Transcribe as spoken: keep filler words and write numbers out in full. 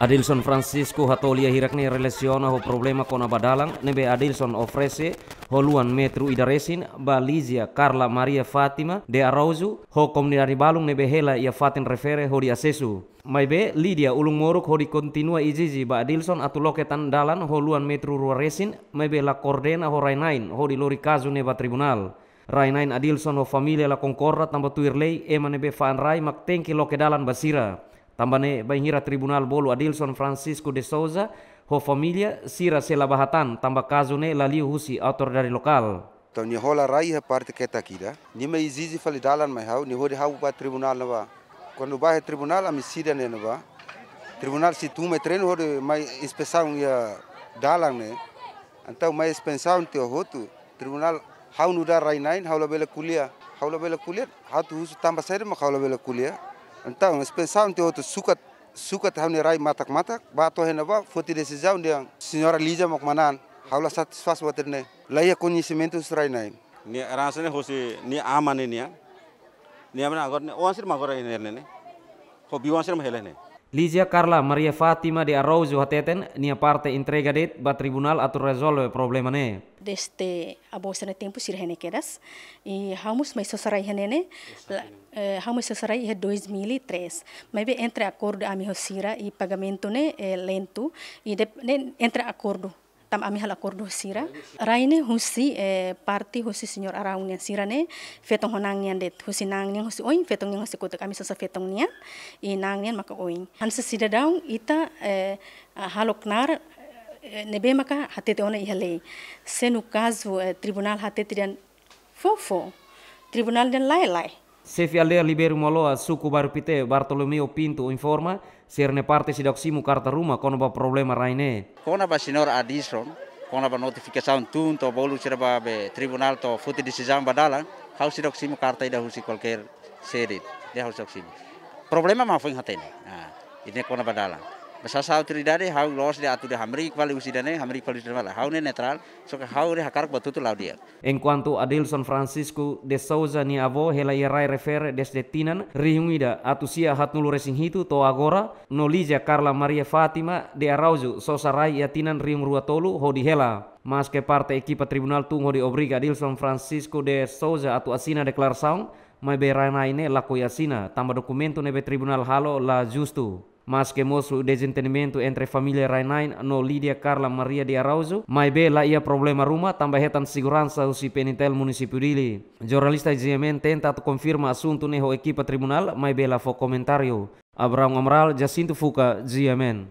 Adilson Francisco hato'o lia hirak-ne'e relasiona ho problema kona-ba dalan ne'ebé Adilson oferese ho luan metru ida resin ba Lígia Carla Maria Fátima de Araújo ho komunidade balun ne'ebé hela iha fatin refere hodi asesu. Maibé Lígia ulun moruk hodi kontinua ezije ba Adilson atu loke tan dalan ho luan metru rua resin, maibé la koordena ho rai-na'in hodi lori kazu ne'e ba tribunál. Rai-na'in Adilson ho família la konkorda tanba tuir lei ema ne'ebé fa'an rai mak tenke loke dalan ba sira. Tanba ne'e bainhira tribunál bolu Adilson Francisco de Souza ho família, sira sei la bá hatán tanba kazu ne'e la liu husi autoridade lokál. Entaun nia hola rai iha parte ketak ida. Nia mai ezije fali dalan mai ha'u, nia hodi ha'u ba tribunál ne'ebá. Kuandu bá iha tribunál ami sira ne'e ne'ebá. Tribunál sei tun mai terrenu hodi mai inspesaun iha dalan ne'e. Entaun mai inspesaun tiha hotu. Tribunál, ha'u nu'udar rai-na'in, ha'u labele ko'alia. Ha'u labele ko'alia, ha'u atu husu tanba saida mak ha'u labele ko'alia. Entaun inspesaun tiha hotu sukat, sukat ha'u-nia rai matak-matak, bá to'o iha ne'ebá, foti desizaun dehan señora Lígia mak manán, ha'u la satisfás buat ida-ne'e. La iha koñesimentu husi rai-na'in. Nia heransa ne'e hosi nia aman ne'e nian. Nia aman agora ne'e, oan sira mak agora iha ne'e ne'e. Ho biban sira mak hela ne'e. Lígia Carla Maria Fátima de Araújo hateten, nia parte entrega de'it ba tribunál atu rezolve problema ne'e. Desde avó sira-nia tempu sira iha ne'e kedas. I ha'u mós mai sosa rai iha ne'e ne'e. La, eh, ha'u mai sosa rai iha dois mil e três. Maibé entre akordu ami ho sira i pagamentu ne'e, eh, lentu. I dep-, ne'e entre akordu. Tanba ami halo akordu ho sira. Rai ne'e husi, eh, parte husi señór Araun nian sira ne'e, feton ho na'an nian de'it, husi na'an nian husi oin, feton nian husi kotuk, ami sosa feton nian, i na'an nian maka oin. Hanesan sidadaun ita, eh, ah, halo knaar, eh, ne'ebé maka hatete ona iha lei. Se no kazu, eh, tribunál hatete dehan fó, fó. Tribunál dehan lae, lae. Xefe aldeia Libério Moloa, suku Bairru Pité, Bartolomeu Pinto, informa, sira-nia parte seidauk simu karta ruma kona-ba problema rai ne'e. Kona-ba señór Adilson, kona-ba notifikasaun tun to'o bolu sira bá be tribunál to'o foti desizaun ba dalan, ha'u seidauk simu karta ida husi kualkér sede, ne'e ha'u seidauk simu. Problema mak foin hatene. Ah, ida-ne'e kona-ba dalan. Basá sá autoridade, ha'u la'ós dehan atu dehan hamriik fali husi ida-ne'e, hamriik fali husi ida-ne'e. Ha'u ne'e netrál, só ke ha'u ne'e hakarak ba tutu la'o di'ak. Enkuantu Adilson Francisco de Souza nia avó hela iha rai refere desde tinan rihun ida atus sia haatnulu resin hitu to'o agora, no Lígia Carla Maria Fátima de Araújo sosa rai iha tinan rihun rua tolu hodi hela. Maske parte ekipa tribunál tun hodi obriga Adilson Francisco de Souza atu asina deklarasaun, maibé rai-na'in ne'e lakohi asina, tanba dokumentu ne'ebé tribunál halo la justu. Maske mosu dezentendimentu entre família rai-na'in no Lígia Carla Maria de Araújo, maibé la iha problema ruma tanba hetan seguransa husi P N T L Munisípiu Dili. Jornalista G M N tenta atu konfirma asuntu ne'e ho ekipa tribunál, maibé la fó komentáriu. Abraão Amaral, Jacinto Fuca, G M N.